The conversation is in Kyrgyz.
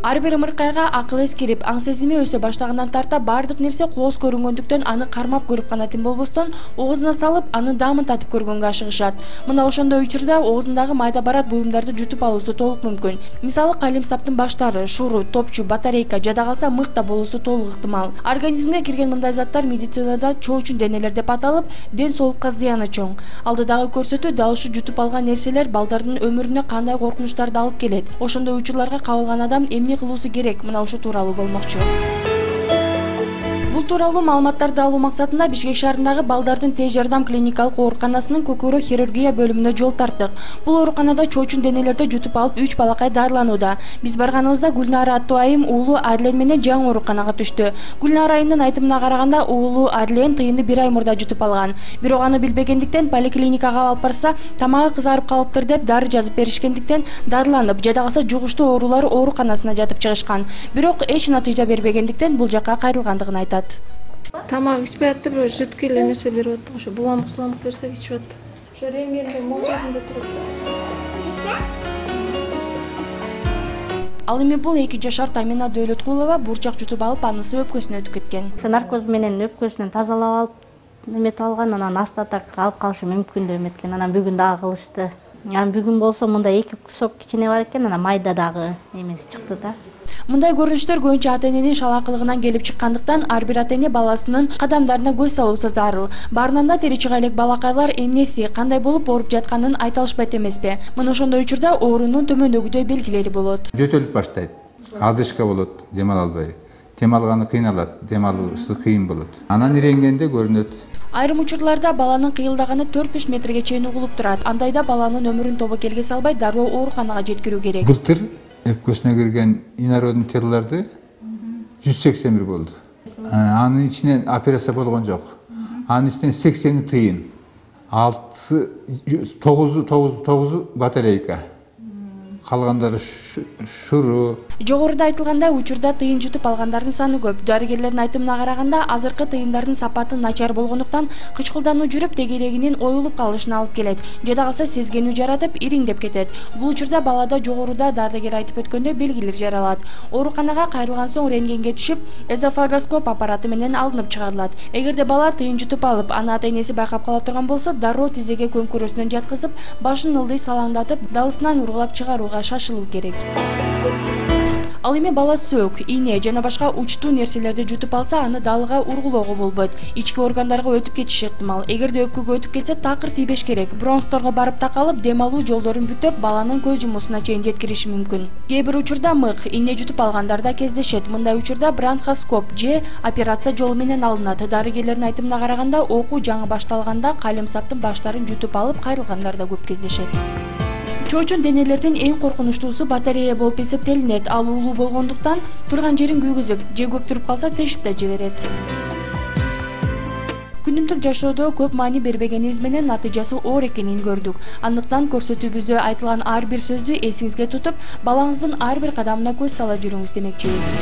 Ар бир ымыркайга акыл эскерип, аң сезими өсө баштагандан тарта бардык нерсе кооз көрүнгөндүктөн аны кармап көрүп гана тим болбостон, оозуна салып, аны даамын татып көргөнгө ашыгышат. Мына ошондой учурда оозундагы майда барат буюмдарды жутуп алуусу толук мүмкүн. Мисалы, калемсаптын баштары, шуру, топчу, батарейка, жада калса мык да болуусу толук ыктымал. Организмге кирген мындай заттар медицинада чоочун денелер деп аталып, ден соолукка зыяны чоң. Алдыдагы көрсөтүү дал ушу жутуп алган нерселер балдардын өмүрүнө кандай коркунучтарды алып келет. Ошондой учурларга кабылган адам эмне кылуусу керек, мына ушу тууралуу болмокчу. Бул тууралуу маалыматтарды алуу максатында Бишкек шаарындагы балдардын тез жардам клиникалык ооруканасынын көкөрө хирургия бөлүмүнө жол тарттык. Бул ооруканада чоочун денелерди жутуп алып 3 балакай дарыланууда. Биз барганыбызда Гүлнара аттуу айым уулу Арлен менен жаңы ооруканага түштү. Гүлнара айымдын айтымына караганда, уулу Арлен тыйынды 1 ай мурда жутуп алган. Бирок аны билбегендиктен поликлиникага алып барса, тамагы кызарып калыптыр деп дары жазып беришкендиктен дарыланып, жада калса жугуштуу оорулар ооруканасына жатып чыгышкан. Бирок эч натыйжа бербегендиктен бул жакка кайрылгандыгын айтат. Тамак ичпей атты, бирок жидкий эле нерсе берип аттык, ошо буламык берсек ичип атты. Ошо рентгенде молжорунда турат. Ал эми бул 2 жашар Тамина Дөөлөткулова бурчак жутуп алып, анысы өпкөсүнө өтүп кеткен. Наркоз менен өпкөсүнөн тазалап алып, неметип алган, анан астатак алып калышы мүмкүн деп эметкен. Анан бүгүн дагы кылышты. Анан бүгүн болсо мындай 2 сок кичине бар экен, анан майда дагы эмеси чыкты да. Мындай көрүнүштөр көбүнчө ата-эненин шалаакылыгынан келип чыккандыктан ар бир ата-эне баласынын кадамдарына көз салуусу зарыл. Баарынан да тери чыга элек балакайлар эмнеси, кандай болуп ооруп жатканын айта алышпайт эмеспи? Мына ошондой учурда оорунун төмөндөгүдөй белгилери болот. Жөтөлүп баштайт. Алдышка болот, дем ала албай. Дем алганы кыйналат, дем алуусу кыйын болот. Анан иренгенде көрүнөт. Айрым учурларда баланын кыйылдаганы 4-5 метрге чейин угулуп турат. Андайда баланын өмүрүн тобокелге салбай дароо ооруканага жеткирүү керек. Былтыр өпкөсүнө кирген инородный телолорду 181 болду. Анын ичинен операция болгон жок. Анын ичинен 80 тыйын, 9 батарейка. Калгандары шуру. Жогоруда айтылгандай, учурда тыйын жутуп алгандардын саны көп. Дарыгерлердин айтымына караганда, азыркы тыйындардын сапаты начар болгондуктан кычкылдануу жүрүп, тегерегинин оюлуп калышына алып келет. Жада калса сезгенүү жаратып, ириңдеп кетет. Бул учурда балада жогоруда дарыгер айтып өткөндөй белгилер жаралат. Ооруканага кайрылган соң рентгенге түшүп, эзофагоскоп аппараты менен алынып чыгарылат. Эгерде бала тыйын жутуп алып, аны ата-энеси байкап кала турган болсо, дароо тизеге көмкөрөсүнөн жаткызып, башын ылдый салаңдатып, далысынан ургулап чыгарууга шашылуу керек. Ал эми бала сөөк, ийне жана башка учтуу нерселерди жутуп алса, аны далыга ургулоого болбойт. Ички органдарга өтүп кетиши ыктымал. Эгерде өпкөгө өтүп кетсе, такыр тийбеш керек. Бронхторго барып такалып, дем алуу жолдорун бүтөп, баланын көз жумуусуна чейин жеткириши мүмкүн. Кээ бир учурда мык, ийне жутуп алгандар да кездешет. Мындай учурда бронхоскоп же операция жолу менен алынат. Дарыгерлердин айтымына караганда, окуу жаңы башталганда калемсаптын баштарын жутуп алып кайрылгандар да көп кездешет. Чоочун денелердин эң коркунучтуусу батарея болуп эсептелинет. Ал уулуу болгондуктан турган жерин күйгүзүп, же көп туруп калса тешип да жиберет. Күнүмдүк жашоодо көп маани бербегенибиз менен натыйжасы оор экенин көрдүк. Андыктан көрсөтүүбүздө айтылган ар бир сөздү эсиңизге тутуп, балаңыздын ар бир кадамына көз сала жүрүңүз демекчибиз.